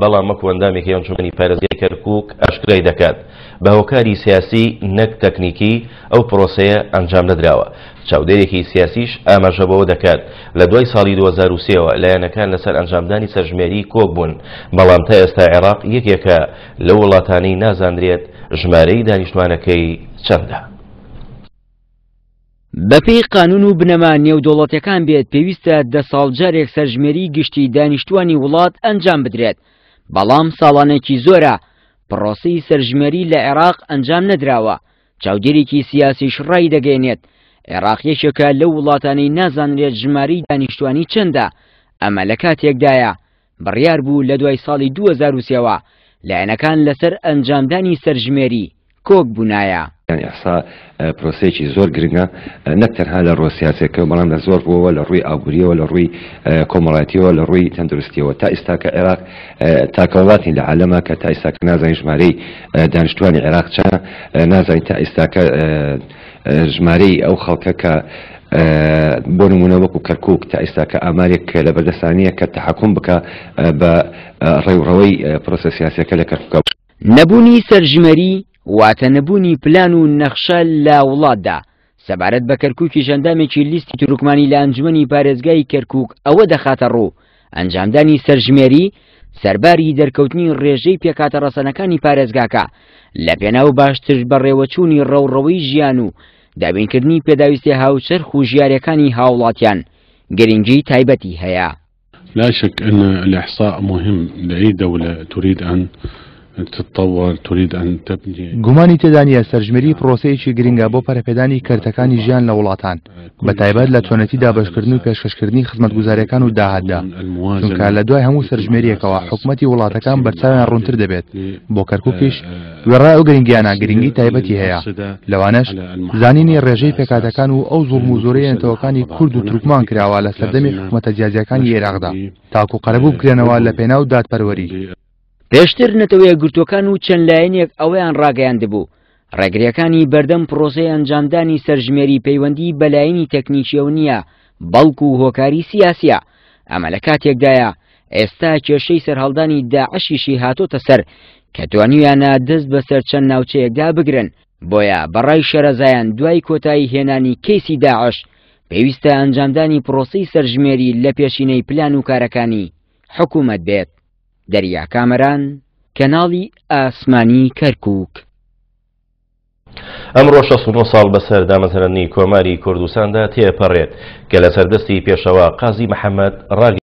بەڵام وەکو ئەندامێکی ئەنجومەنی پارێزگای کەرکوک ئاشکرای دەکات بە هۆکاری سیاسی نەک تەکنیکی ئەو پرۆسەیە ئەنجام نەدراوە. چاودێرێکی سیاسیش ئاماژە بەوە دەکات لە دوای ساڵی 2003 ەوە لایەنەکان لەسەر ئەنجامدانی سەرژمێری کۆک بوون، بەڵام تا ئێستا عێراق یەکێکە لەو وڵاتانەی نازانرێت ژمارەی دانیشتوانەکەی چەندە. بەپێی قانون و بنەما نێودەوڵەتیەکان بێت پێویستە دە ساڵ جارێک سەرژمێری گشتی دانیشتوانی وڵات ئەنجام بدرێت، بەڵام ساڵانێکی زۆرە پڕۆسەی سەرژمێری لە عێراق ئەنجام نەدراوە، چاودێرێکی سیاسیش ڕایدەگەیەنێت عێراق یەکێکە لەو وڵاتانەی نازانرێت ژمارەی دانیشتوانی چەندە، ئەمە لە کاتێکدایە بڕیار بوو لە دوای ساڵی 2003 ەوە لایەنەکان لەسەر ئەنجامدانی سەرژمێری کۆک بوونایە. یانی ئیحسا پرۆسەیەکی زۆر گرنگە نەک تەنها لە ڕووە سیاسیەکەوە بەڵام لە زۆر ڕووەوە لە ڕووی ئابووریەوە لە ڕووی کۆمەڵایەتیەوە لە ڕووی تەندروستیەوە تا ئیستاکە عێراق تاکە وڵاتین لە عالەمە کە تا ئیستاکە نازانین ژمارەی دانیشتوانی عێراق چەنە نازانین تا ئیستاکە ژمارەی ئەو خەڵکە کە بۆ نمونە وەکو کەرکک تا ئێستا کە ئامارێک لە بەردەستانیە کە تحکم بکە بە ڕێوڕەوەی پرۆسە سیاسەکە لە کەرکک. نەبوونی سەرژمێری واتە نەبوونی پلان و نەخشە لە وڵاتدا. سەبارەت بە کەرکوکیش ئەندامێکی لیستی تورکمانی لە ئەنجومەنی پارێزگای کەرکوک ئەوە دەخاتەڕوو، ئەنجامدانی سەرژمێری سەرباری دەرکەوتنی ڕێژەی پێکهاتە ڕەسەنەکانی پارێزگاکە لەپێناو باشتر بەڕێوەچوونی ڕەوڕەوەی ژیان و دابینکردنی پێداویستیە هاوچەرخ و ژیاریەکانی هاوڵاتیان گرنگی تایبەتی هەیە. لا شك أن الإحصاء مهم لأي دولة تريد أن تتطور تريد أن تبني. گومانی تێدا نییە سەرژمێری پرۆسەیەکی گرنگە بۆ پەرەپێدانی کەرتەکانی ژیان لە وڵاتان، بەتایبەت لە چۆنێتی دابەشکردن و پێشکەشکردنی خزمەتگوزارییەکان و داهاتدا، چونکە لە دوای هەموو سەرژمێرییەکەوە حکومەتی وڵاتەکان بەرچاویان ڕوونتر دەبێت، بۆ کەرکوکیش وێڕای ئەو گرنگییانە گرنگی تایبەتی هەیە، لەوانەش زانینی ڕێژەی پێکهاتەکان و ئەو زوڵم و زۆرەی نەتەوەکانی کورد و تورکمان کراوە لە سەردەمی حکومەتە جیاجیاکانی ئێراقدا تاکو قەرەبوو بکرێنەوە لە پێناو دادپەروەری. پێشتر نەتەوەیەکگرتووەکان و چەند لایەنێک ئەوەیان ڕاگەیاندبوو، ڕێگرییەکانی بەردەم پڕۆسەی ئەنجامدانی سەرژمێری پەیوەندی بە لایەنی تەکنیکییەوە نییە، بەڵکو هۆکاری سیاسییە، ئەمە لە کاتێکدایە ئێستا کێشەی سەرهەڵدانی داعشیشی هاتۆتە سەر کە توانیویانە دەست بەسەر چەند ناوچەیەکدا بگرن، بۆیە بەڕای شارەزایان دوای کۆتایی هێنانی کەیسی داعش پێویستە ئەنجامدانی پڕۆسەی سەرژمێری لە پێشینەی پلان و کارەکانی حکومەت بێت. دەریا کامەران، کەناڵی ئاسمانی کەرکوک. ئەمڕۆ 69 ساڵ بەسەر دامەزراندنی کۆماری کوردستاندا تێپەڕێت کە لەسەر دەستی پێشەوا قازی محەممەد ڕاگەیەندرا.